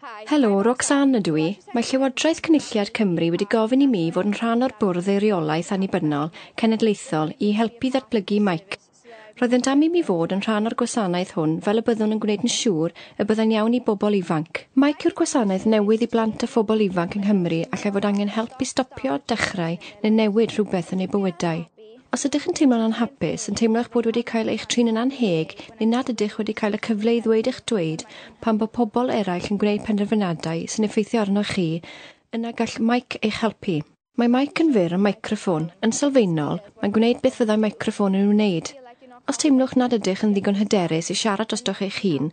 Helo, Roxanne ydw i. Mae Llywodraeth Cynulliad Cymru wedi gofyn i mi fod yn rhan o'r Bwrdd Eiriolaeth Annibynnol Cenedlaethol i helpu ddatblygu Meic. Roeddent am i mi fod yn rhan o'r gwasanaeth hwn fel y byddwn yn gwneud yn siŵr y byddai'n iawn i bobl ifanc. Meic yw'r gwasanaeth newydd i blant a phobl ifanc yng Nghymru allai fod angen help i stopio, dechrau neu newid rhywbeth yn eu bywydau. Os ydych yn teimlo'n anhapus, yn teimlo eich bod wedi cael eich trin yn annheg neu nad ydych wedi cael y cyfle i ddweud eich dweud pan bod pobl eraill yn gwneud penderfyniadau sy'n effeithio arnoch chi, yna gall Meic eich helpu. Mae Meic yn fyr am meicroffon. Yn sylfaenol, mae'n gwneud beth fyddai meicroffon yn wneud. Os teimlwch nad ydych yn ddigon hyderus i siarad drostoch eich hun,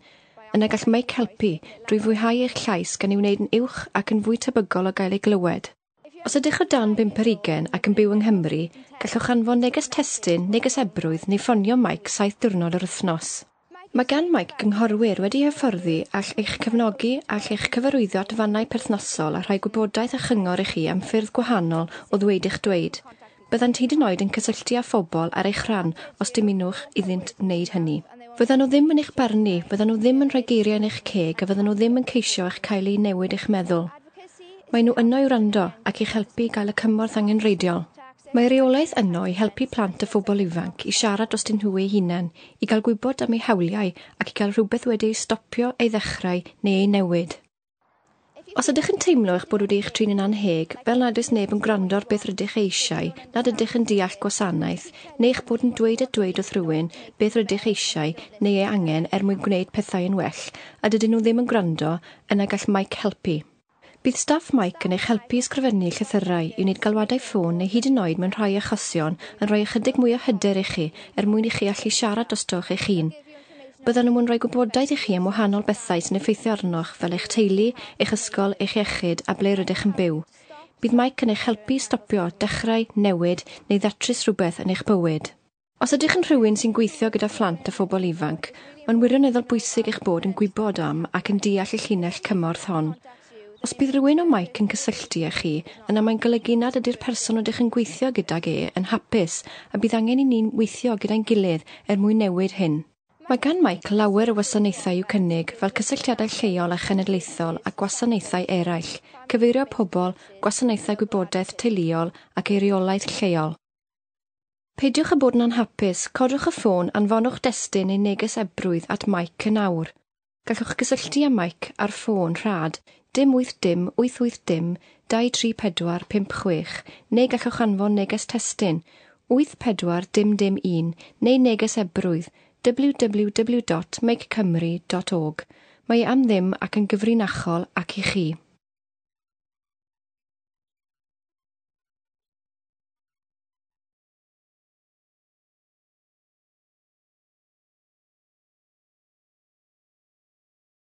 yna gall Meic helpu drwy fwyhau eich llais gan ei wneud yn uwch ac yn fwy tebygol o gael ei glywed. Os ydych o dan 25 ac yn byw yng Nghymru, gallwch anfon neges testun, neges ebrwydd neu ffonio Meic 7 diwrnod yr wythnos. Mae gan Meic gynghorwyr wedi hyfforddi all eich cefnogi all eich cyfarwyddo at fannau perthnasol a rhoi gwybodaeth a chyngor i chi am ffyrdd gwahanol o ddweud eich dweud. Byddant hyd yn oed yn cysylltu â phobl ar eich rhan os dymunwch iddynt wneud hynny. Fyddan nhw ddim yn eich barnu, fyddan nhw ddim yn rhoi geiriau yn eich ceg a fyddan nhw ddim yn ceisio eich cael ei newid eich meddwl. Mae nhw yno i wrando ac i'ch helpu i gael y cymorth angenrheidiol. Mae reolaeth yno i helpu plant a phobl ifanc i siarad drostyn nhw eu hunain, i gael gwybod am eu hawliau ac i gael rhywbeth wedi ei stopio, ei ddechrau neu ei newid. Os ydych yn teimlo eich bod wedi eich trin yn annheg, fel nad oes neb yn gwrando ar beth rydych eisiau, nad ydych yn deall gwasanaeth, neu eich bod yn dweud a dweud wrth rhywun beth rydych eisiau neu ei angen er mwyn gwneud pethau yn well, a dydyn nhw ddim yn gwrando, yna gall Meic helpu. Bydd staff Meic yn eich helpu i ysgrifennu llythyrau, i wneud galwadau ffôn neu hyd yn oed mewn rhai achosion yn rhoi ychydig mwy o hyder i chi er mwyn i chi allu siarad drostoch eich hun. Byddan nhw'n rhoi gwybodaeth i chi am wahanol bethau sy'n effeithio arnoch fel eich teulu, eich ysgol, eich iechyd a ble rydych yn byw. Bydd Meic yn eich helpu i stopio, dechrau, newid neu ddatrys rhywbeth yn eich bywyd. Os ydych yn rhywun sy'n gweithio gyda phlant a phobl ifanc, mae'n wirioneddol bwysig eich bod yn gwybod am ac yn deall y llinell cymorth hon. Os bydd rhywun o Meic yn cysylltu â chi, yna mae'n golygu nad ydy'r person ydych yn gweithio gydag e yn hapus a bydd angen i ni'n weithio gyda'n gilydd er mwyn newid hyn. Mae gan Meic lawer o wasanaethau i'w cynnig fel cysylltiadau lleol a chenedlaethol a gwasanaethau eraill, cyfeirio pobl, gwasanaethau gwybodaeth teuluol ac eiriolaeth lleol. Peidiwch â bod yn anhapus, codwch y ffôn, anfonwch destun neu neges ebrwydd at Meic yn awr. Gallwch gysylltu â Meic ar ffôn rhad 0 80 880 234 56 neu gallwch anfon neges testun 84 dim dim 1 neu neges ebrwydd www.meiccymru.org. Mae e am ddim ac yn gyfrinachol ac i chi.